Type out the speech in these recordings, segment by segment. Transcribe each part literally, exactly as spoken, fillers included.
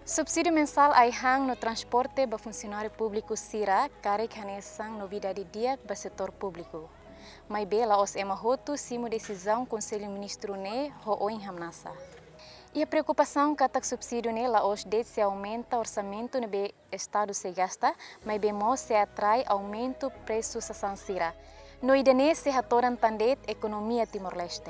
Subsídiu mensál ai-han no transporte ba funsionáriu públiku sira karik hanesan novidade di'ak ba setór públiku. Maibé la'ós ema hotu simu desizaun Konsellu Ministru ne'e ho oin hamnasa. Iha preokupasaun katak subsídiu ne'e la'ós de'it sei aumenta orsamentu ne'ebé Estadu sei gasta, maibé mós sei atrai aumentu presu sasán sira. No ida-ne'e sei hatodan tan de'it ekonomia Timor-Leste.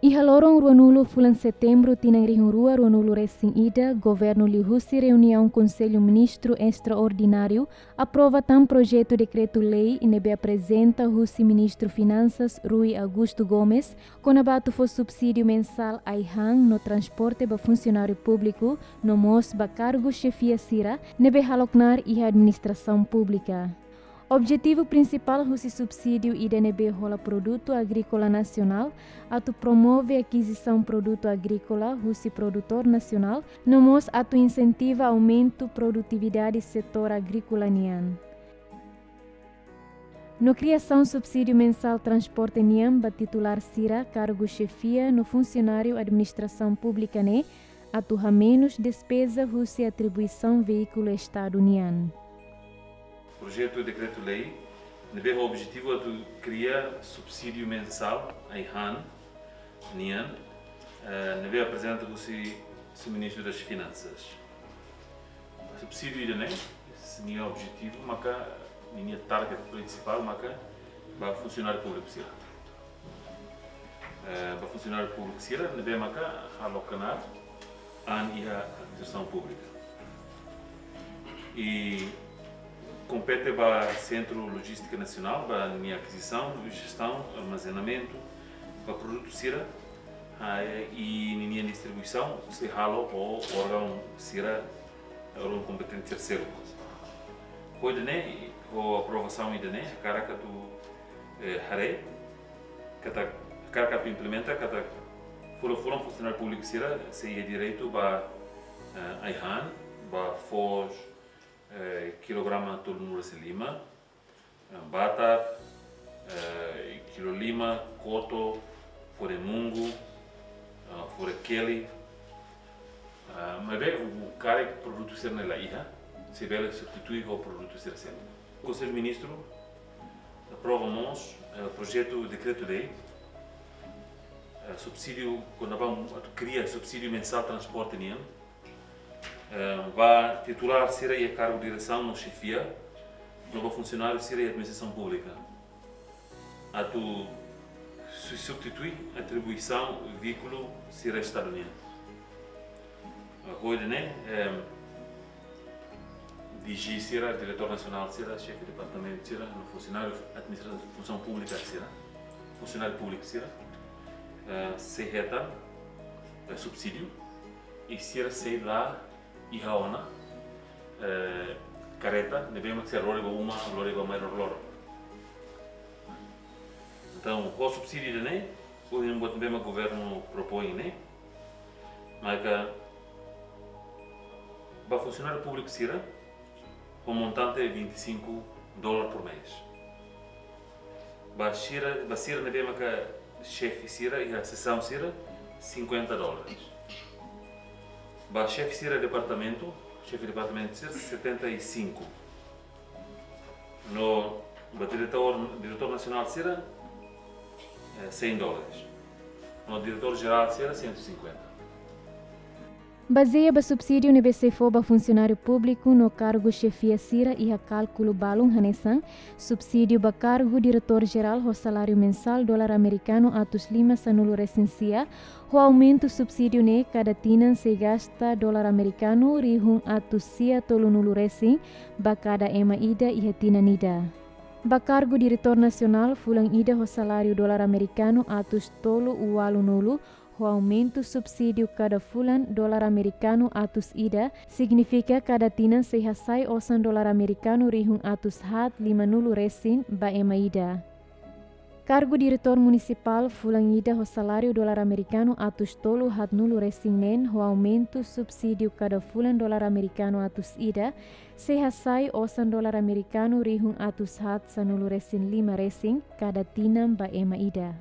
Iha loron ruanulu fulan Setembru tinan rihun rua ruanulu resin ida, Governu liuhusi reuniaun Konsellu Ministru Estraordináriu aprova tan projetu dekretu-lei ne'ebé aprezenta husi Ministru Finansas Rui Augusto Gomes, kona-ba atu fó subsídiu mensál ai-han no transporte ba funsionáriu públiku, no mós ba kargu xefia sira ne'ebé halo knaar iha administrasaun públika. Objetivu prinsipál husi subsídiu ida ne'ebé hola produtu agríkola nasionál atu promove akizisaun produtu agríkola husi produtór nasionál, no mós atu insentiva aumentu produtividade setór agríkola nian. No kriasaun subsídiu mensál transporte nian ba titulár sira kargu xefia no funsionáriu administrasaun públika ne'e atu hamenus despeza husi atribuisaun veíkulu Estadu nian. Projetu dekretu-lei ne'ebé ho objetivu atu kria subsídiu mensál ai-han nian, eh, ne'ebé aprezenta husi, husi Ministru das Finansas. Subsídiu ida-ne'e, ninia objetivu maka, ninia target prinsipál maka ba funsionáriu públiku sira. Eh, ba funsionáriu públiku sira ne'ebé maka halo knaar an iha administrasaun públika. I kompete ba Sentru Lojístika Nasionál ba ninia akizisaun, jestaun, armazenamentu ba produtu sira, ah, i ninia distribuisaun sei halo ho órgaun sira, órgaun kompetente terseiru. Ho ida-ne'e, ho aprovasaun ida-ne'e, hakarak atu, eh, haree katak, hakarak atu implementa katak fulan-fulan funsionáriu públiku sira sei iha direitu ba, eh, ai-han, ba foos, eh, kilograma tolunulu resin lima, eh, batar, eh, kilo lima, koto, fore-mungu, eh, fore-keli. Eh, maibé, karik produtu sira-ne'e la iha, sei bele substitui ho produtu sira seluk. Konsellu Ministru aprova mós, eh, projetu dekretu-lei, eh, subsídiu, kona-ba atu kria subsídiu mensál transporte nian, eh, ba titulár sira iha kargu diresaun no xefia, no ba funsionáriu sira iha administrasaun públika. Atu su-, substitui atribuisaun veíkulu sira Estadu nian. Ho ida-ne'e, em, D G sira, diretór nasionál sira, xefe departamentu sira, no funsionáriu administrasaun funsaun públika sira, funsionáriu públiku sira, eh, sei hetan, eh, subsídiu, i sira sei la iha ona, eh, kareta ne'ebé mak sira lori ba uma, lori ba mai loroloron. Entaun, ho subsídiu ida-ne'e, ohin buat ne'ebé mak governu propoin ne'e, maka ba funsionáriu públiku sira, ho montante vinte e cinco dólar por mês. Ba sira, ba sira ne'ebé maka xefe sira iha sesaun sira, cinquenta dólares. Ba xefe sira departamentu, xefe departamentu sira, setenta e cinco. No ba diretór, diretór nasionál sira, eh, cem dólares. No diretór jerál sira, cento e cinquenta. Bazeia ba subsídiu ne'ebé sei fó ba funsionáriu públiku no kargu xefia sira iha kálkulu balun hanesan, subsídiu ba kargu diretór jerál ho saláriu mensál dolar amerikanu atus lima sanulu resin sia, ho aumentu subsídiu ne'e kada tinan sei gasta dolar amerikanu rihun atus sia tolunulu resin ba kada ema ida iha tinan ida. Ba kargu diretór nasionál fulan ida ho saláriu dolar amerikanu atus tolu ualunulu, ho aumentu subsídiu kada fulan dolar amerikanu atus ida, signifika kada tinan sei hasai osan dolar amerikanu rihun atus haat limanulu resin ba ema ida. Kargu diretór munisipál fulan ida ho saláriu dolar amerikanu atus tolu haat nulu resin neen, ho aumentu subsídiu kada fulan dolar amerikanu atus ida, sei hasai osan dolar amerikanu rihun atus haat sanulu resin lima resin kada tinan ba ema ida.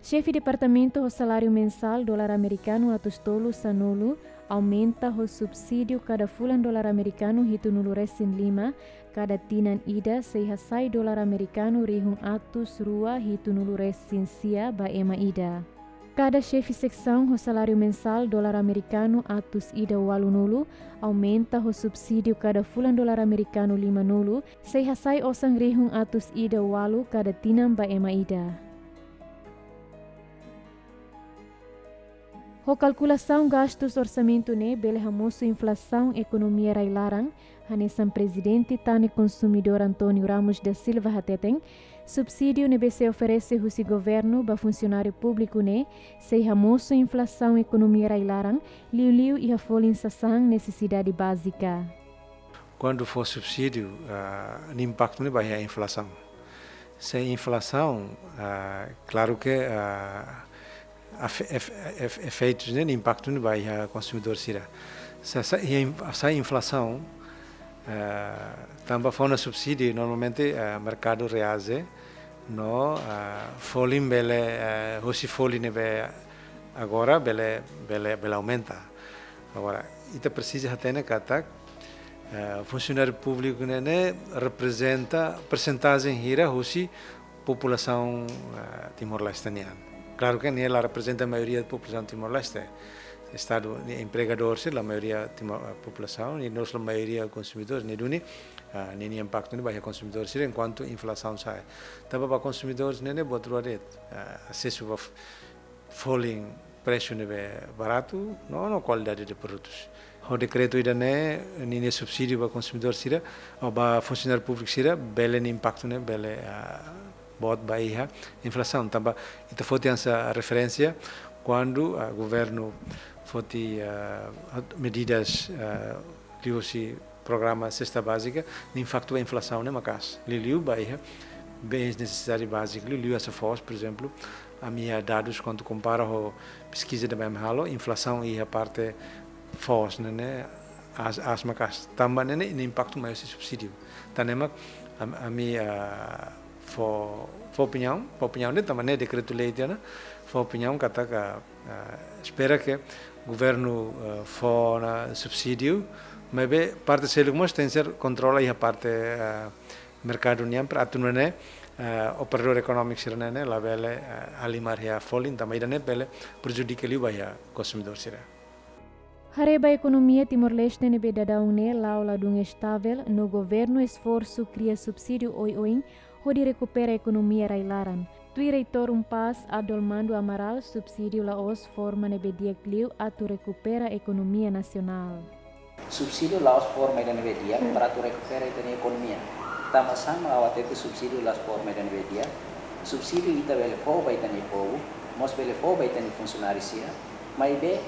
Xefe departamentu ho saláriu mensál dolar amerikanu atus tolu sanulu, aumenta ho subsídiu kada fulan dolar amerikanu hitunulu resin lima, kada tinan ida sei hasai dolar amerikanu rihun atus rua hitunulu resin sia ba ema ida. Kada xefe seksaun ho saláriu mensál dolar amerikanu atus ida ualunulu, aumenta ho subsídiu kada fulan dolar amerikanu limanulu, sei hasai osan rihun atus ida ualu kada tinan ba ema ida. Ho kalkulasaun gastus orsamentu ne'e bele hamosu inflasaun ekonomia rai-laran, hanesan Prezidente Tane Konsumidór António Ramos da Silva hateten, subsídiu ne'ebé sei oferese husi governu ba funsionáriu públiku ne'e sei hamosu inflasaun ekonomia rai-laran, liuliu iha folin sasán nesesidade bázika. Kuandu fó subsídiu, ah, nia impaktu ne'e ba iha inflasaun. Se inflasaun, ah, klaru ke, ah, efe-, efe-, efe-, efeitus ne'e, impaktu ne'e ba iha konsumidór sira. Se, se, iha in-, se inflasaun, ah, tanba fó ona subsídiu, normalmente, ah, merkadu reaje, no, ah, folin bele, ah, husi folin ne'ebé agora bele, bele, bele aumenta. Agora, ita presiza hatene katak, eh, funsionáriu públiku ne'e, ne'e reprezenta persentajen hira husi populasaun, eh, Timor-Leste nian. Klaru ke nia la reprezenta maioria populasaun Timor-Leste. Estadu nia empregadór sira la maioria Timor, eh, populasaun, i mós la maioria konsumidór, ne'e duni, eh, nia, nia impaktu ne'e ba iha konsumidór sira enkuantu inflasaun sa'e. Tanba ba konsumidór ne'e, ne'e buat rua de'it, eh, asesu ba f-, folin presu ne'ebé baratu, no, no kualidade de produtus. Ho dekretu ida-ne'e, ninia subsídiu ba konsumidór sira, ou ba funsionáriu públiku sira, bele nia impaktu ne'e, bele, ah, boot ba iha inflasaun. Tanba, ita foti hanesan referénsia, kuandu, ah, governu foti, ah, medidas, ah, liuhusi programa sesta bázika, nia impaktu ba inflasaun ne'e maka'as. Liuliu ba iha bens nesesidade bázika, liuliu hanesan foos, por ezemplu, ami iha dadus kuandu kompara ho peskiza ne'ebé ami halo, inflasaun iha parte foos ne'e, ne'e aas, aas maka'as. Tanba ne'e, ne'e nia impaktu mai husi subsídiu. Tan ne'e mak am-, ami, ah, fó, fó opiniaun, fó opiniaun de'it, tanba ne'e dekretu-lei tiha ona, fó opiniaun katak, ah, espera ke governu, eh, fó ona subsídiu, maibé parte seluk mós tenke ser kontrola iha parte, eh, merkadu nian para atu nune'e, eh, operadór ekonómiku sira-ne'e, ne'e labele, eh, halimar iha folin, tanba ida-ne'e bele prejudika liu ba iha konsumidór sira. Haree ba ekonomia Timor-Leste ne'ebé daudaun ne'e la'o ladún estavel, no governu esforsu kria subsídiu oioin hodi rekupera ekonomia rai-laran. Tuir Reitór UNPAZ, Adolmando Amaral, subsídiu la'ós forma ne'ebé di'ak liu atu rekupera ekonomia nasionál. Subsídiu la'ós forma ida ne'ebé di'ak para atu rekupera ita-nia ekonomia. Tanba sá mak ha'u hatete subsídiu la'ós forma ida ne'ebé di'ak? Subsídiu ita bele fó ba ita-nia povu, mós bele fó ba ita-nia funsionáriu sira, maibé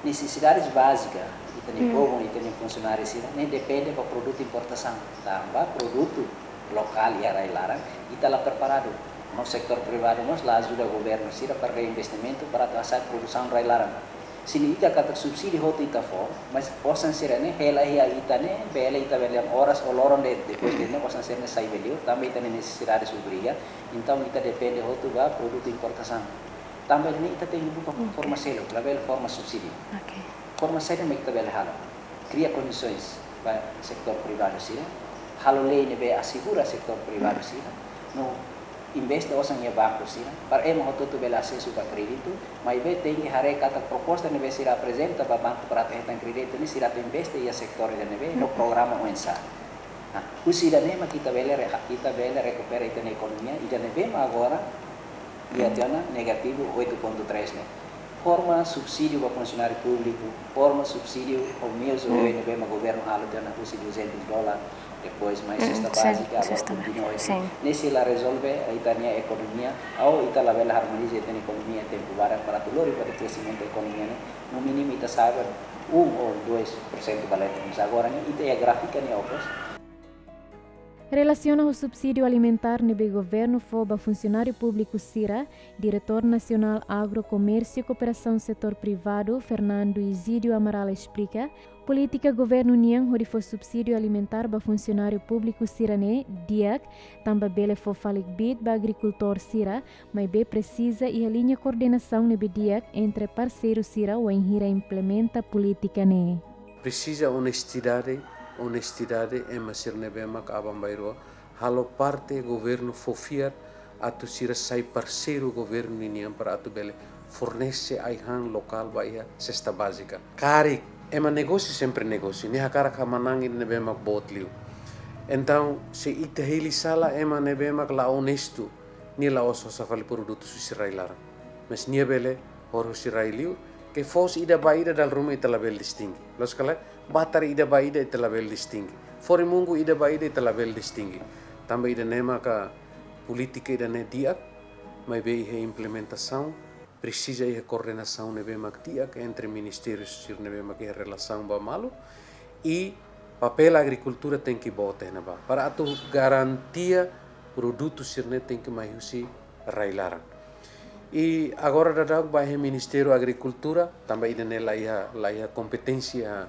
nesesidades bázika ita-nia povu, ita-nia funsionáriu sira, ne'e depende ba produtu importasaun. Tanba produtu lokál iha rai-laran, ita la preparadu. No setór privadu mós la ajuda governu sira para investimentu para atu hasa'e produsaun rai-laran. Se liu ita katak subsídiu hotu ita fó, mas osan sira-ne'e hela iha ita-nia, bele ita bele oras ou loron de'it, depois de ne'e osan sira-ne'e sai ba li'ur, tanba ita-nia nesesidades obriga, entaun ita depende hotu ba produtu importasaun. Tanba ne'e ita tenke buka forma seluk, labele forma subsídiu. Oke. Forma saida mak ita bele halo? Kria kondisoens ba setór privadu sira, halo lei ne'ebé asegura setór privadu sira, no investe osan iha banku sira, para ema hotu-hotu bele asesu ba kréditu, maibé tenke haree katak proposta ne'ebé sira aprezenta ba banku para atu hetan kréditu ne'e sira atu investe iha setór ida ne'ebé, no programa oinsá. Nah, husi ida-ne'e mak ita bele re-, ita bele rekupera ita-nia ekonomia, ida ne'ebé mak agora iha tiha ona negativu oito ponto três ne'e. Forma subsídiu ba funsionáriu públiku, forma subsídiu ho meius oioin ne'ebé mak governu halo tiha ona husi duzentus dolar, depois mai sesta bázika, agora kontinua oioin. Ne'e sei la rezolve ita-nia ekonomia, ou ita labele harmoniza ita-nia ekonomia tempu badak para atu lori ba kreximentu ekonomia ne'e, no mínimu ita sa'e ba um ou dois por cento ba leten. Mas agora ne'e ita iha gráfiku ne'e okos. Relasiona ho subsídiu alimentár ne'ebé governu fó ba funsionáriu públiku sira, Diretór Nasionál Agro, Komérsiu Kooperasaun Setór Privadu, Fernando Izídio Amaral esplika, polítika governu nian hodi fó subsídiu alimentár ba funsionáriu públiku sira-ne'e di'ak, tanba bele fó fali kbiit ba agrikultór sira, maibé presiza iha liña koordenasaun ne'ebé di'ak entre parseiru sira wainhira implementa polítika ne'e. Presiza onestidade, onestidade ema sira ne'ebé mak aban-bainrua halo parte governu fó fiar atu sira sai parseiru governu ninian para atu bele fornese ai-han lokál ba iha sesta bázika. Karik ema negósiu sempre negósiu, nia hakarak manán ida ne'ebé mak boot liu. Entaun, se ita hili sala ema ne'ebé mak la onestu, nia la'ós hosa fali produtu husi rai-laran. Mas nia bele hor husi rai liu, ke foos ida ba ida dala ruma ita labele distingi. Loos ka lae, batar ida ba ida ita labele distingi. Fore-mungu ida ba ida ita labele distingi. Tanba ida-ne'e maka polítika ida-ne'e di'ak, maibé iha implementasaun, presiza iha koordenasaun ne'ebé mak di'ak entre ministériu sira ne'ebé mak iha relasaun ba malu, i papél agrikultura tenke boot iha ne'ebá. Para atu garantia produtu sira-ne'e tenke mai husi rai-laran. I agora daudaun ba iha Ministériu Agrikultura, tanba ida-ne'e la iha, la iha kompeténsia,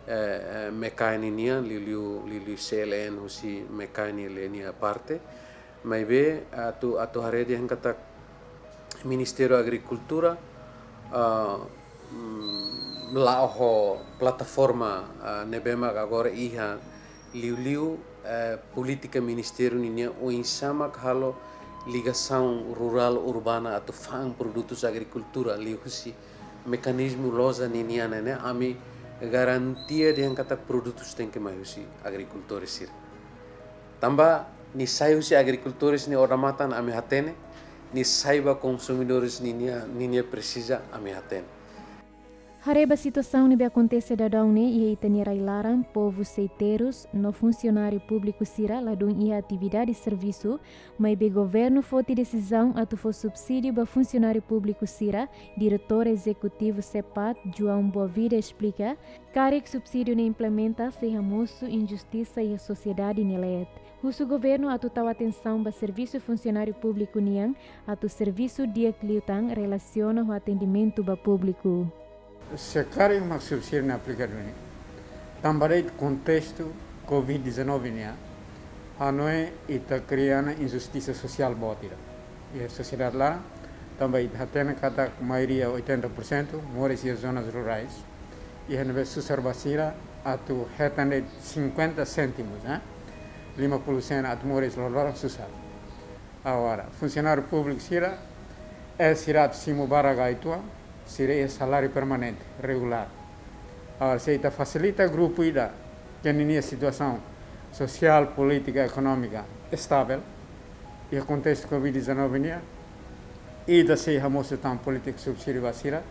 eh, eh, MECAE nian, liuliu, liuliu C L N husi MECAE nia parte. Maibé, atu, atu haree dehan katak Ministériu Agrikultura, ah, mm, la'o ho plataforma, ah, ne'ebé mak agora iha liuliu, eh, polítika ministériu ninian oinsá mak halo ligasaun rurál urbana atu fa'an produtus agrikultura liuhusi mekanizmu loja ninian ne'e, ami garantia dehan katak produtus tenke mai husi agrikultór sira. Tanba nia sai husi agrikultór nia odamatan ami hatene, nia sai ba konsumidór ninia, ninia presiza ami hatene. Haree ba situasaun ne'ebé akontese daudaun ne'e iha ita-nia rai-laran, povu sei terus, no funsionáriu públiku sira ladún iha atividade servisu, maibé governu foti desizaun atu fó subsídiu ba funsionáriu públiku sira, Diretór Ezekutivu SEPAD, João Boavida esplika, karik subsídiu ne'e implementa sei hamosu injustisa iha sosiedade nia leet. Husu governu atu tau atensaun ba servisu funsionáriu públiku nian, atu servisu di'ak liután relasiona ho atendimentu ba públiku. Se karik mak subsídiu ne'e aplikadu ne'e, tanba de'it kontestu Covid dezanove nian, hanoin ita kria ona injustisa sosiál boot ida iha sosiedade laran, tanba ita hatene katak maioria, oitenta por cento, moris iha zonas rurais. Iha ne'ebé susar ba sira atu hetan de'it cinquenta cêntimos, eh? Lima puluh sen atu moris loroloron susar. Agora, funsionáriu públiku sira, eh, sira atu simu barak uitoan, sira iha saláriu permanente, regulár. Agora, se ita fasilita grupu ida ke ninia situasaun sosiál, polítika, ekonómika estável, iha kontestu Covid dezanove nian, ita sei hamosu tan polítika subsídiu ba sira,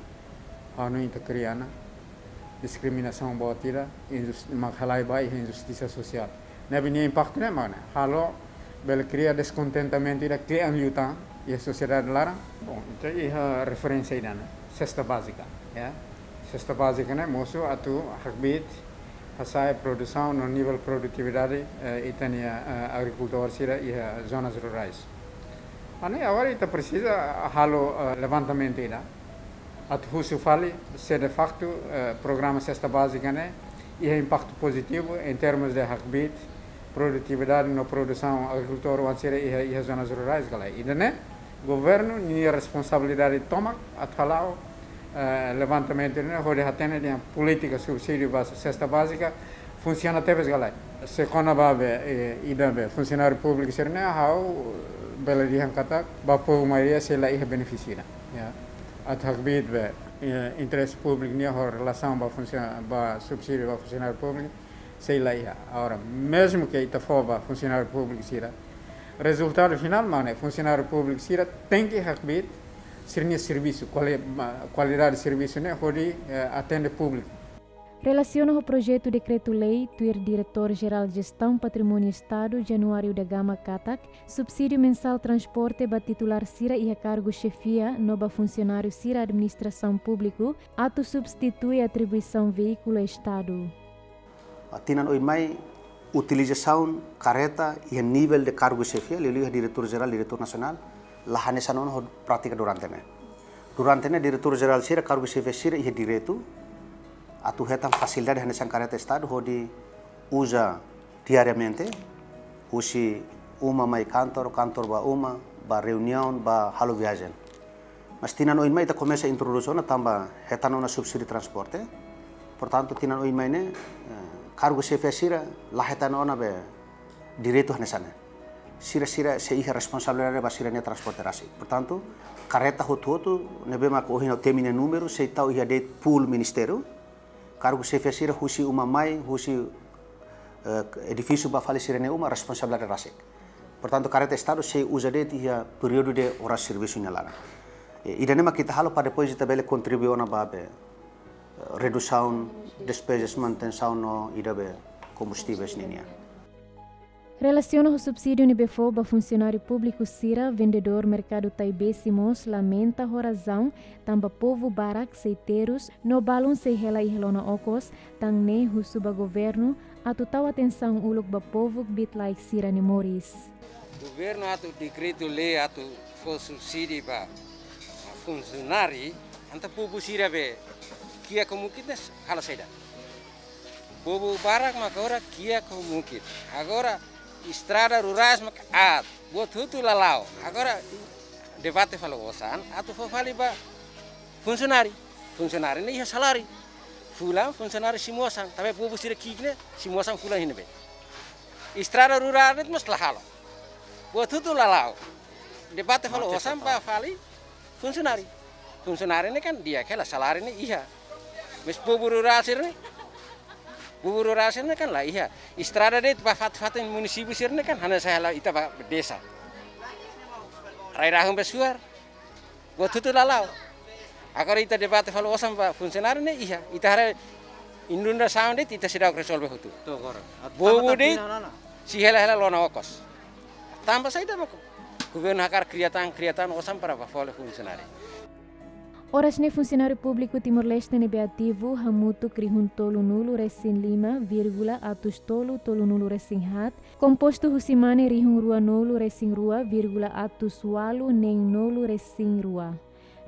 hanoin ita kria ona diskriminasaun boot ida, injus-, mak halai ba iha injustisa sosiál. Ne'ebé nia impaktu ne'e mak ne'e, halo bele kria deskontentamentu ida kle'an liután iha sosiedade laran. Bom, ita iha referénsia ida ne'e, sesta bázika, ya. Sesta bázika ne'e mosu atu hakbiit hasa'e produsaun no nivel produtividade, eh, ita-nia, eh, agrikultór sira iha zonas rurais. Hanesan agora ita presiza halo, eh, levantamentu ida atu husu fali se de faktu, eh, programa sesta bázika ne'e iha impaktu pozitivu em termos de hakbiit produtividade no produsaun agrikultór oan sira iha, iha zonas rurais ka lae. Ida-ne'e governu nia responsabilidade tomak atu hala'o, eh, levantamentu ne'e hodi hatene dehan polítika subsídiu ba sesta bázika funsiona tebes ka lae. Se kona-ba be, eh, ida be funsionáriu públiku sira-ne'e, ha'u bele dehan katak ba povu maioria sei la iha benefísiu ida, ya. Atu hakbiit be, eh, interese públiku nian ho relasaun ba funsio-, ba subsídiu ba funsionáriu públiku, sei la iha. Agora, mezmu ke ita fó ba funsionáriu públiku sira, rezultadu finál mak ne'e, funsionáriu públiku sira tenke hakbiit sira-nia servisu, kuali-, ma-, kualidade servisu ne'e hodi, eh, atende públiku. Relasiona ho projetu dekretu-lei, tuir Diretór Jerál Jestaun Patrimóniu Estadu, Januário da Gama katak, subsídiu mensál transporte ba titulár sira iha kargu xefia no ba funsionáriu sira administrasaun públiku, atu substitui atribuisaun veíkulu Estadu. Ah, tinan oin mai, Utilizasaun kareta iha nivel de kargu xefia, liuliu iha diretór jerál, diretór nasionál, la hanesan ona ho prátika durante ne'e. Durante ne'e diretór jerál sira, kargu xefia sira iha direitu atu hetan fasilidade hanesan kareta estadu hodi uza diariamente, husi uma mai kantor, kantor ba uma, ba reuniaun, ba halo viajen. Mas tinan oin mai ita komesa introdús ona tanba hetan ona subsídiu transporte. Portantu, tinan oin mai ne'e, eh, kargu xefia sira la hetan ona be direitu hanesan ne'e. Sira, sira sei iha responsabilidade ba sira-nia transporte rasik. Portantu, kareta hotu-hotu ne'ebé mak ohin ha'u temi nia númeru, sei tau iha de'it pool ministériu. Kargu xefia sira husi uma mai, husi, eh, edifísiu ba fali sira-nia uma, responsabilidade rasik. Portantu, kareta estadu sei uza de'it iha períodu de oras servisu nia laran. Eh, ida-ne'e mak ita halo para depois ita bele kontribui ona ba be, eh, redusaun despezas manutensaun no ida be kombustivel ninian. Relasiona ho subsídiu ne'ebé fó ba funsionáriu públiku sira, vendedór merkadu Taibesi mós lamenta ho razaun tanba povu barak sei terus no balun sei hela iha lona okos, tan ne'e husu ba governu atu tau atensaun uluk ba povu kbiit-laek sira-nia moris. Governu atu dekretu lei atu fó subsídiu ba funsionáriu, entaun povu sira be kiak ho mukit ne'e halo saida? Povu barak mak agora kiak ho mukit. Agora estrada rurais mak aat, buat hotu la la'o. Agora debate fali osan atu fó fali ba funsionáriu. Funsionáriu ne'e iha saláriu. Fulan funsionáriu simu osan, tanba povu sira kiak ne'e simu osan fulan iha ne'ebé? Estrada rurál ne'e mós la halo. Buat hotu la la'o. Debate fali osan ba fali funsionáriu. Funsionáriu ne'e kan di'ak hela, saláriu ne'e iha. Mas povu rurál sira-ne'e, povu rurál sira-ne'e kan la iha. Estrada de'it ba fatin-fatin munisípiu sira-ne'e kan hanesan hela ita ba desa. Rai-rahun ba suar. Buat hotu la la'o. Agora ita debate fali osan ba funsionáriu ne'e iha. Ita haree inundasaun de'it ita seidauk rezolve hotu. To'o agora. Povu de'it sei hela-hela lona okos. Tanba saida mak governu hakarak kria tan, kria tan osan para ba fó fali funsionáriu. Oras ne'e funsionáriu públiku Timor-Leste ne'ebé ativu hamutuk rihun tolunulu-resin-lima vírgula atus tolu tolunulu-resin-haat, kompostu husi mane rihun ruanulu-resin-rua vírgula atus ualu neenulu-resin-rua.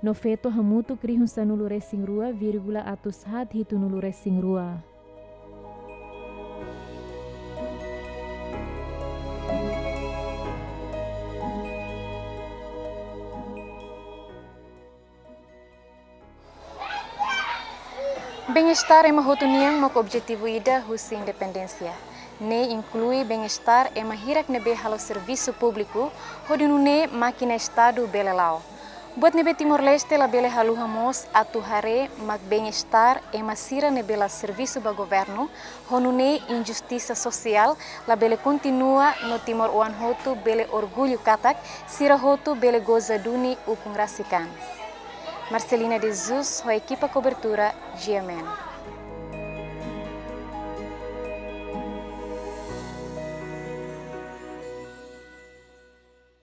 No feto hamutuk rihun sanulu-resin-rua vírgula atus haat hitunulu-resin-rua. Bem-estar ema hotu nian mak objetivu ida husi independénsia. Ne'e inklui bem-estar ema hirak ne'ebé halo servisu públiku, hodi nune'e mákina estadu bele la'o. Buat ne'ebé Timor-Leste labele haluha mós atu haree mak bem-estar ema sira ne'ebé la servisu ba governu, ho nune'e injustisa sosiál labele kontinua no timoroan hotu bele orgullu katak sira hotu bele goza duni ukun rasik an. Marcelina de Jesus, ho ekipa kobertura G M N.